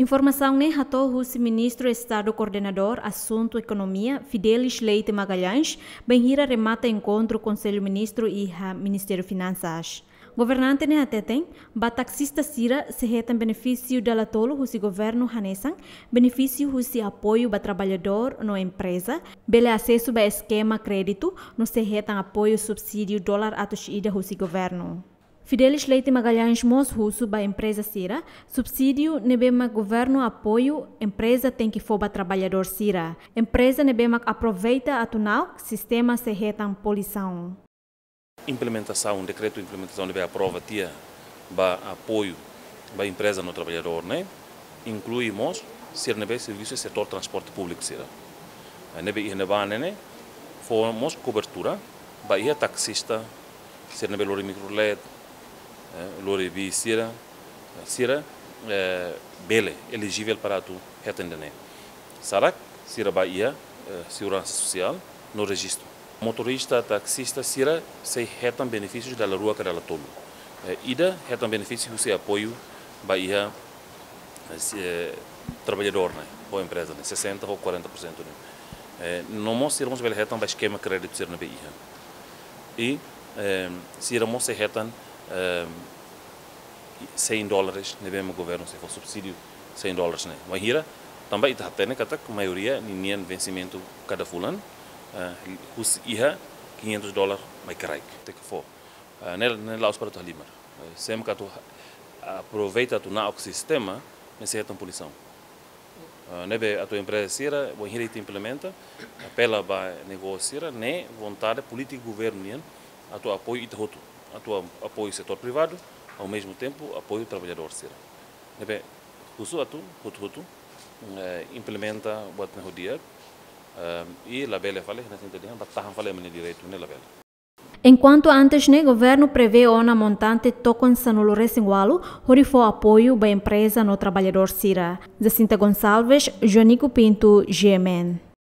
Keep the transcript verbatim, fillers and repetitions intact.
Informasaun ne'e hato'o husi Ministru Estadu Koordenadór Asuntu Ekonomia, Fidelis Leite Magalhães, bainhira remata enkontru Konsellu Ministru iha Ministériu Finansas. Governante ne'e hateten, ba taksista sira sei hetan benefísiu dala tolu husi governu hanesan benefísiu husi apoiu ba traballadór no empreza, bele asesu ba eskema kréditu, no sei hetan apoiu subsídiu dolar atus ida husi governu. Fidelis Leite Magalhães mós husu ba empreza sira, subsídiu ne'ebé mak governu apoiu, empreza tenke fó ba traballadór sira. Empreza ne'ebé mak aproveita atu na'ok, sistema sei hetan punisaun. Implementasaun, dekretu implementasaun ne'ebé aprova tiha ba apoiu ba empreza no traballadór ne'e, inklui mós sira ne'ebé servisu setór transporte públiku sira. Eh, ne'ebé iha ne'ebá ne'e, fó mós kobertura ba iha taksista sira ne'ebé lori mikrolet, eh, lori bis sira, sira, eh, bele elijivel para atu hetan ida-ne'e. Sá karik sira ba iha, eh, seguransa sosiál no rejistu. Motorista, taksista sira sei hetan benefísiu dala rua ka dala tolu. Eh, ida hetan benefísiu husi apoiu ba iha, eh, si-, eh, traballadór ne'e, ou empreza ne'e, sessenta ou quarenta por cento ne'e. Eh, no mós sira mós bele hetan ba eskema kréditu sira ne'ebé iha. I, eh, sira mós sei hetan, eh, cem dólares, ne'ebé mak governu sei fó subsídiu cem dólares ne'e. Bainhira, tanba ita hatene katak maioria ninian vensimentu kada fulan, eh, husi iha quinhentos dólar mai kraik. Tenke fó. Eh, ne'e, ne'e la'ós para atu halimar. Eh, sé mak atu ha-, aproveita atu na'ok sistema, ne'e sei hetan punisaun. Eh, ne'ebé atu empreza sira, bainhira ita implementa, apela ba negósiu sira, ne'e vontade polítika governu nian, atu apoiu ita hotu, atu a-, apoiu setór privadu, ao mesmo tempo apoiu traballadór sira. Ne'ebé husu atu hotu-hotu, eh, implementa buat ne'e ho di'ak, eh, i labele fali, hanesan ita dehan, ba tahan fali ema nia direitu ne'e labele. Enkuantu antes ne'e, governu prevee ona montante tokon sanulu-resin-ualu, hodi fó apoiu ba empreza no traballadór sira. Jacinta Gonçalves, Joanico Pinto, G M N.